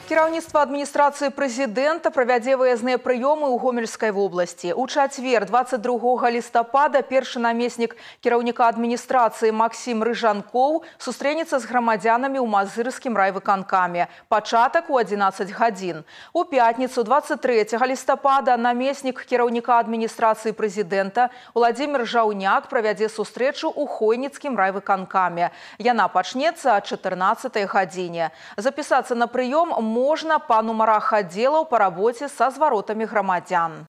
Кіраўніцтва адміністрацыі прэзідэнта правядзе выязныя прыёмы ў Гомельскай вобласці. У чацвер, 22 лістапада, першы намеснік кіраўніка адміністрацыі Максім Рыжанкоў сустрэнецца з грамадзянамі ў Мазырскім райвыканкаме. Пачатак у 11 гадзін. У пятніцу, 23 лістапада, намеснік кіраўніка адміністрацыі прэзідэнта Владзімір Жаўняк правядзе сустрэчу ў Хойніцкім райвыканкаме. Яна пачнецца о 14 гадзіне. Запісацца на прыём можна па нумарах аддзелаў па рабоце са зваротамі грамадзян.